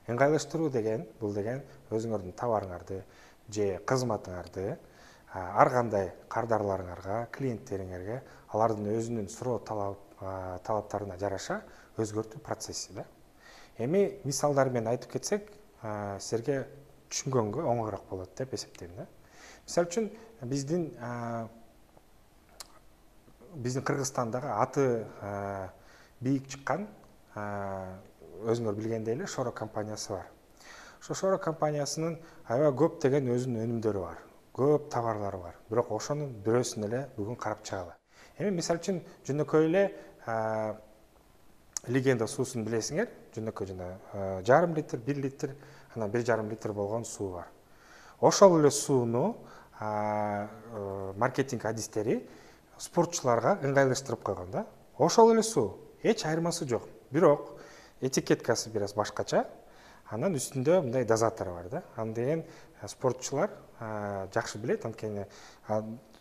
ыңгайлаштыруу деген бул деген өзүңөрдүн товарыңарды же кызматыңарды ар кандай кардарларыңарга, клиенттериңерге алардын өзүнүн суроо талаптарына жараша өзгөртүү процесси да. Эми мисалдар менен айтып кетсек, силерге түшүнгөнгө оңоюраак болот деп эсептейм да. Мисалы үчүн биздин Кыргызстандагы аты бийик чыккан өзүңөр билгендей эле Шоро компаниясы бар. Ошо Шоро компаниясынын аябай көп деген өзүнүн өнүмдөрү бар. Көп товарлары бар. Бирок ошонун бирөөсүн эле бүгүн карап чыгалы. Эми мисалы үчүн жөнөкөй эле Легенда суусун билесиңер. Жөнөкөй жана 1,5 литр, 1 литр, анан 1,5 литр болгон суу бар. Ошол эле сууну маркетинг адистери спортчуларга ыңгайлаштырып койгон да. Ошол эле суу, эч айырмасы жок. Бирок этикеткасы бир аз башкача. Анан үстүндө мындай дозатор бар да. Аны деген спортчулар жакшы билет, анткени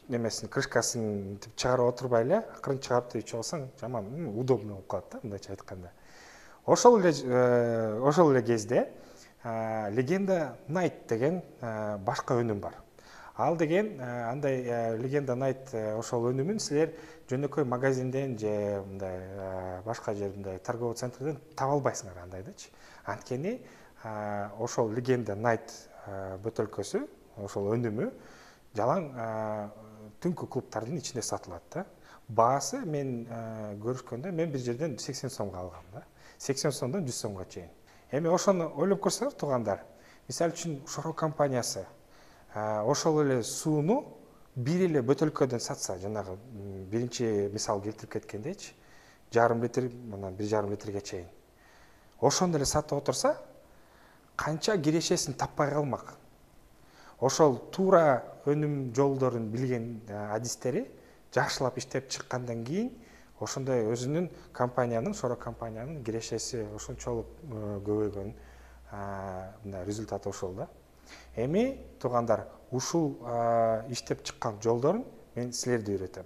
немесин крышкасын чыгарып отурбай эле акырын чыгарып ичип алсаң жаман удобно болуп калат да, мындайча айтканда. Ошол эле кезде Легенда Найт деген башка өнүм бар. Ал деген андай Легенда Найт ошол өнүмүн силер жөнөкөй магазинден же мындай башка жерден торговый центрден таба албайсыңар андайдычы. Анткени ошол Легенда Найт бөтөлкөсү, ошол өнүмү жалаң түнкү клубтардын ичинде сатылат да. Баасы мен көрүшкөндө мен бир жерден 80 сомго алгам да. 80 сомдон 100 сомго чейин. Эми ошону ойлоп көрсөңөр туугандар, мисалы үчүн Шоро компаниясы ошол эле сууну бир эле бөтөлкөдөн сатса, жанагы биринчи мисал келтирип кеткендейчи, 1,5 литр, анан 1,5 литрге чейин. Ошону эле сатып отурса, канча кирешесин таппай калмак. Ошол туура өнүм жолдорун билген адистери жакшылап иштеп чыккандан кийин ошондой өзүнүн компаниянын, Шоро компаниянын кирешеси ошончолук көбөйгөн мындай результаты ошол да. Эми туугандар, ушул иштеп чыккан жолдорун мен силерди үйрөтөм.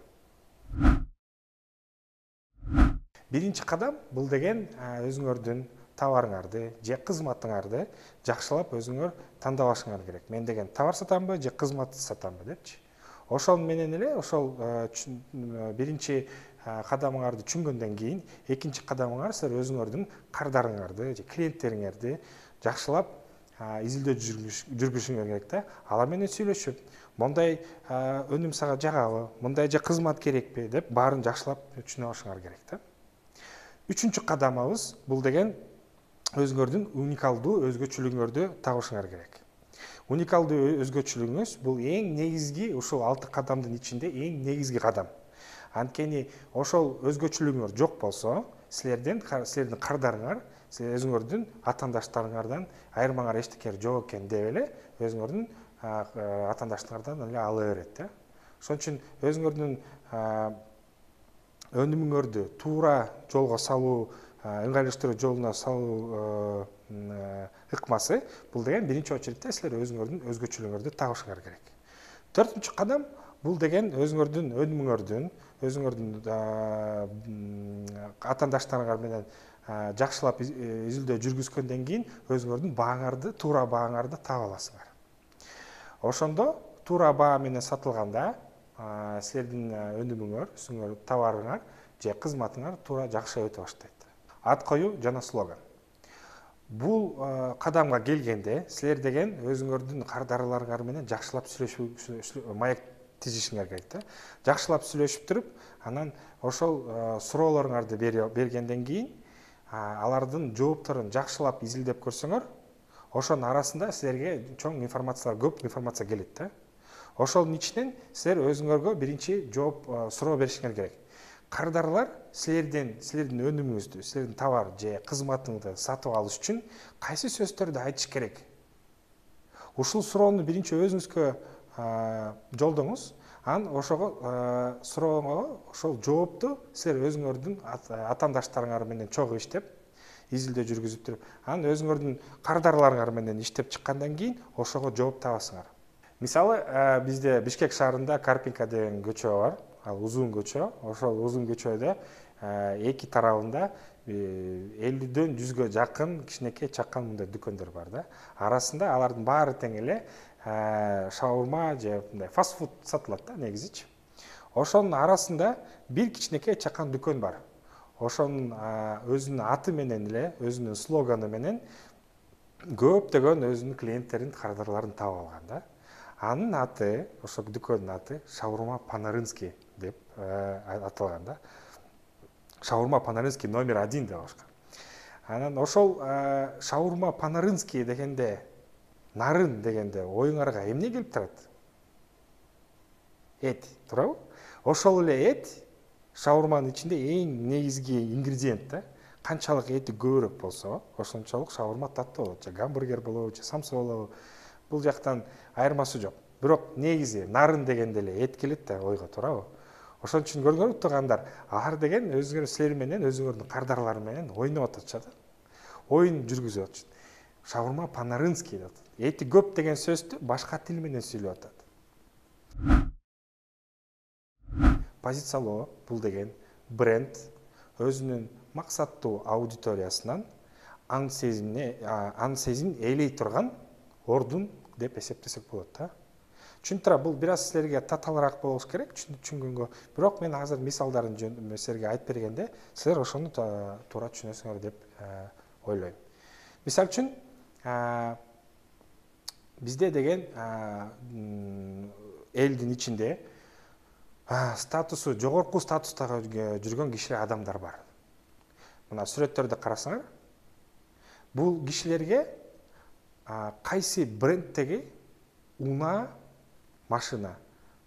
Биринчи кадам бул деген өзүңөрдүн товарыңарды же кызматыңарды жакшылап өзүңөр тандап алышыңар керек. Мен деген товар сатамбы же кызмат сатамбы депчи. Ошол менен эле ошол биринчи кадамыңарды түшүнгөндөн кийин экинчи кадамыңар силер өзүңөрдүн кардарыңарды же клиенттериңерди жакшылап изилдөө жүргүзүшүңөр керек да. Алар менен сүйлөшүп, мондай өнүм сага жагабы, мондай же кызмат керекпи деп баарын жакшылап түшүнө алышыңар керек да. Үчүнчү кадамыбыз бул деген өзүңөрдүн уникалдуу өзгөчөлүгүңөрдү табышыңар керек. Уникалдуу өзгөчөлүгүңүз бул эң негизги, ушул 6 кадамдын ичинде эң негизги кадам. Анткени ошол өзгөчөлүгүңөр жок болсо, силердин кардарыңар, силер өзүңөрдүн атаандаштарыңардан айырмаңар эчтеке жок экен деп эле өзүңөрдүн атаандаштарыңардан эле ала берет да. Ошон үчүн өзүңөрдүн өнүмүңөрдү туура жолго салуу, ыңгайлаштыруу жолуна салуу ыкмасы бул деген биринчи очередте силер өзүңөрдүн өзгөчөлүгүңөрдү табышыңар керек. Төртүнчү кадам бул деген өзүңөрдүн өнүмүңөрдүн, өзүңөрдүн атаандаштарыңар менен жакшылап изилдөө жүргүзгөндөн кийин өзүңөрдүн бааңарды, туура бааңарды таба аласыңар. Ошондо туура баа менен сатылганда силердин өнүмүңөр, товарыңар же кызматыңар туура жакшы өтө баштайт. Ат коюу жана слоган. Бул кадамга келгенде силер деген өзүңөрдүн кардарларыңар менен жакшылап маек тизишиңер керек да. Жакшылап сүйлөшүп туруп, анан ошол суроолоруңарды бергенден кийин алардын жоопторун жакшылап изилдеп көрсөңөр, ошонун арасында силерге чоң информациялар, көп информация келет да. Ошонун ичинен силер өзүңөргө биринчи жооп суроо беришиңер керек. Кардарлар силердин өнүмүңүздү, силердин товар же кызматыңды сатып алыш үчүн кайсы сөздөрдү айтыш керек? Ушул суроону биринчи өзүңүзгө жолдоңуз, анан ошого суроого ошол жоопту силер өзүңөрдүн атаандаштарыңар менен чогуу иштеп, изилдөө жүргүзүп туруп, анан өзүңөрдүн кардарларыңар менен иштеп чыккандан кийин ошого жооп табасыңар. Мисалы, бизде Бишкек шаарында Карпинка деген көчө бар. ал узун көчө. Ошол узун көчөдө эки тарабында 50-дөн 100гө жакын кичинекей чакан мындай дүкөндөр бар да. Арасында алардын баары тең эле шаурма же мындай фастфуд сатылат да негизичи. Ошонун арасында бир кичинекей чакан дүкөн бар. Ошонун өзүнүн аты менен эле, өзүнүн слоганы менен көптөгөн өзүнүн клиенттерин, кардарларын таап алган да. Анын аты, ошол дүкөндүн аты Шаурма Панарынский деп аталган да. Шаурма Панарынский номер 1 деп коюшкан. Анан ошол Шаурма Панарынский дегенде, нарын дегенде оюңарга эмне келип турат? Эт, туурабы? Ошол эле эт шаурманын ичинде эң негизги ингредиент да. Канчалык эти көбүрөөк болсо, ошончолук шаурма таттуу болот. Же гамбургер болобу, же самса болобу. Бул жактан айырмасы жок. Бирок негизи нарын дегенде эле эт келет да ойго, туурабы? Ошон үчүн көргөнү тургандар, алар деген өзүңөр силер менен, өзүңөрдүн кардарлар менен ойноп атышат. Оюн жүргүзүп атышат. Шаурма Панарынский деп атат. Эти көп деген сөздү башка тил менен сүйлөп атат. Позициялоо бул деген бренд өзүнүн максаттуу аудиториясынан ан сезимин ээлей турган ордун деп эсептесек болот да. Чүнтүра бул бир аз силерге татаалыраак болуш керек түшүнгөнгө. Бирок мен азыр мисалдарын силерге айтып бергенде, силер ошону туура түшүнөсүңөр деп ойлойм. Мисал үчүн, бизде деген элдин ичинде статусу жогорку статустагы жүргөн кишилер, адамдар бар. Мына сүрөттөрдө карасаңар, бул кишилерге кайсы брендтеги унаа, машина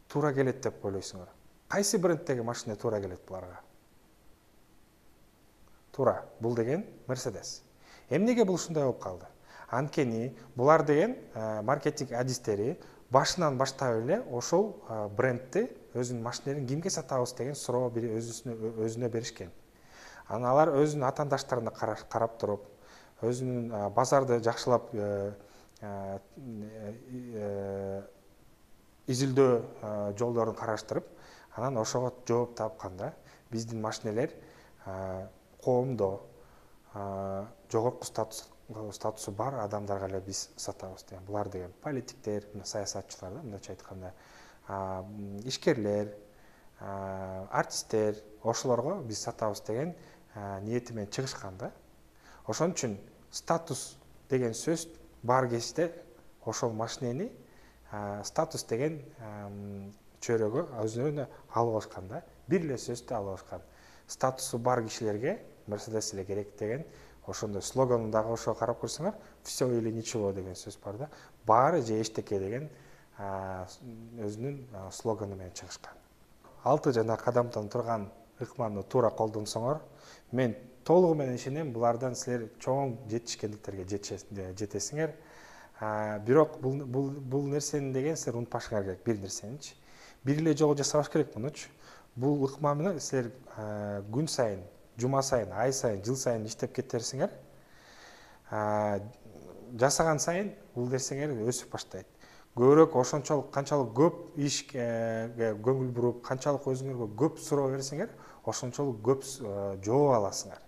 туура келет деп ойлойсуңар? Кайсы брендтеги машина туура келет буларга? Туура, бул деген Mercedes. Эмнеге бул ушундай болуп калды? Анткени булар деген маркетинг адистери башынан баштап эле ошол брендти, өзүнүн машиналарын кимге сатабыз деген суроо өзүнө беришкен. Анан алар өзүнүн атаандаштарына карап туруп, өзүнүн базарды жакшылап изилдөө жолдорун караштырып, анан ошого жооп тапканда, биздин машиналар коомдо жогорку статусу бар адамдарга эле биз сатабыз деген. Булар деген политиктер, саясатчылар да, мындайча айтканда, ишкерлер, артисттер, ошолорго биз сатабыз деген ниети менен чыгышкан да. Ошон үчүн статус деген сөз бар кезде ошол машинени статус деген чөйрөгө өзүнө алып алышкан да. Бир эле сөздү алып алышкан. Статусу бар кишилерге Mercedes эле керек деген, ошондой слоганындагы ошого карап көрсөңөр, все или ничего деген сөз бар да. Баары же эчтеке деген өзүнүн слоганы менен чыгышкан. 6 жана кадамдан турган ыкманы туура колдонсоңор, мен толугу менен ишенем, булардан силер чоң жетишкендиктерге жетесиңер. Бирок бул нерсени деген силер унутпашыңар керек, бир нерсеничи. Бир эле жолу жасабаш керек мунучу. Бул ыкманы силер күн сайын, жума сайын, ай сайын, жыл сайын иштеп кетерсиңер. Жасаган сайын бул нерсеңер өсүп баштайт. Көбүрөөк ошончолук канчалык көп ишке көңүл буруп, канчалык өзүңөргө көп суроо берсеңер, ошончолук көп жооп аласыңар.